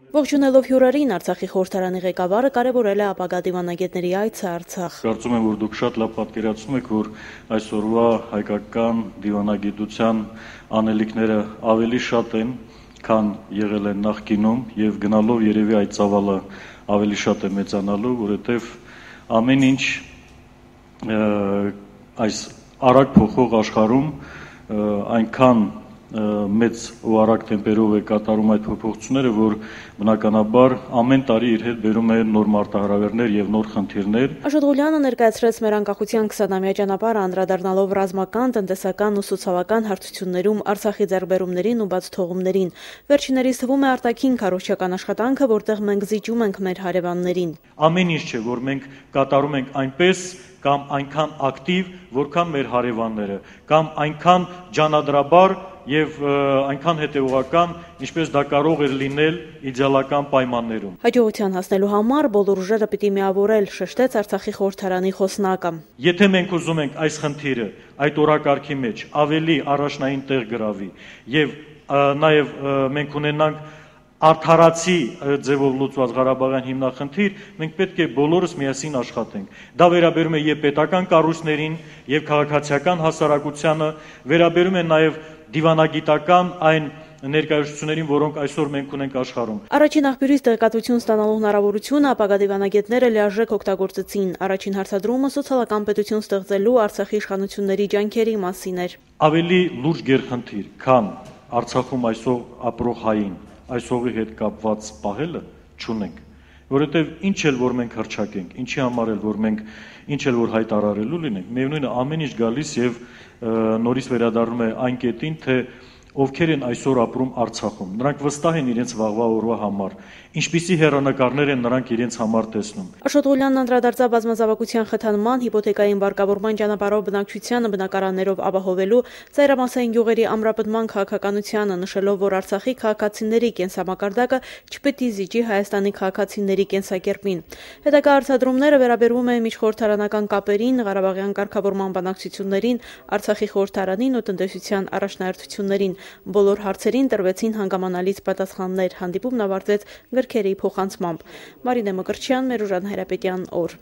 Ողջունելով հյուրերին, Արցախի խորհրդարանի ղեկավարը կարևորել է ապագա դիվանագետների այցը Արցախ։ Կարծում եմ, որ դուք շատ լավ պատկերացնում եք, որ այսօրվա հայկական դիվանագիտության անելիքները ավելի շատ են, քան եղել են նախկինում, եւ գնալով երևի այդ ծավալը ավելի շատ է մեծանալու, որովհետեւ ամեն ինչ այս արագ փոխող աշխարհում այնքան մեծ ու արագ տեմպերով է կատարում այդ փոփոխությունները, որ բնականաբար ամեն տարի իր հետ բերում է նոր մարտահրավերներ եւ նոր խնդիրներ։ Աշոտ Ղուլյանը ներկայացրեց մեր անկախության 20-ամյա ճանապարհը, անդրադառնալով ռազմական, տնտեսական ու սոցիալական հարթություններում Արցախի ձեռքբերումներին ու բաց թողումներին։ Վերջիններիս թվում է արտաքին քարոզչական աշխատանքը, որտեղ մենք զիջում ենք մեր հարևաններին։ Ամեն ինչ չէ, որ մենք կատարում ենք այնպես կամ այնքան ակտիվ, որքան մեր հարևանները, կամ այնքան ջանադրաբար եւ այնքան հետեւողական, ինչպես դա կարող էր լինել իդեալական պայմաններում։ Հաջողության հասնելու համար բոլոր ուժերը պիտի միավորել, շեշտեց Արցախի խորհրդարանի խոսնակը։ Եթե մենք ուզում ենք այս խնդիրը այդ օրակարգի մեջ ավելի առաջնային տեղ գրավի եւ նաեւ մենք ունենանք արդարացի ձևով լուծված Ղարաբաղյան հիմնախնդիր, մենք պետք է բոլորս միասին աշխատենք։ Դա վերաբերում է եւ պետական կառույցներին, եւ քաղաքացիական հասարակությանը, վերաբերում է նաեւ դիվանագիտական այն ներկայացություններին, որոնք այսօր մենք ունենք աշխարհում։ Առաջին աղբյուրից տեղեկատվություն ստանալու հնարավորությունը ապագա դիվանագետները լիարժեք օգտագործեցին։ Առաջին հարցադրումը սոցիալական պետություն ստեղծելու Արցախի իշխանությունների ջանքերի մասին էր։ Ավելի լուրջ գերխնդիր, քան Արցախում այսօր ապրող հային այսօղի հետ կապված պահելը չունենք, որովհետև ինչ էլ որ մենք հռչակենք, ինչի համար էլ որ մենք ինչ էլ որ հայտարարելու լինենք, միևնույն է ամեն ինչ գալիս եւ նորից վերադառնում է այն կետին, թե ովքեր են այսօր ապրում Արցախում։ Նրանք վստահ են իրենց վաղվա օրվա համար, ինչպիսի հեռանկարներ են նրանք իրենց համար տեսնում։ Աշոտ Ղուլյանն անդրադարձավ բազմազավակության խթանման, հիպոթեկային վարկավորման ճանապարհով բնակչությանը բնակարաններով ապահովելու, ծայրամասային գյուղերի ամրապնդման քաղաքականությանը, նշելով, որ Արցախի քաղաքացիների կենսամակարդակը չպետք է զիջի Հայաստանի քաղաքացիների կենսակերպին։ Հետագա հարցադրումները վերաբերում են միջխորհրդարանական կապերին, Ղարաբաղյան կարգավորման բանակցություններին, Արցախի խորհրդարանին ու տնտեսության առաջնահերթություններին։ Բոլոր հարցերին տրվեցին հանգամանալից պատասխաններ, հանդիպումն ավարտվեց գրքերի փոխանցմամբ։ Մարինե Մկրտչյան, Մերուժան Հայրապետյան, օր։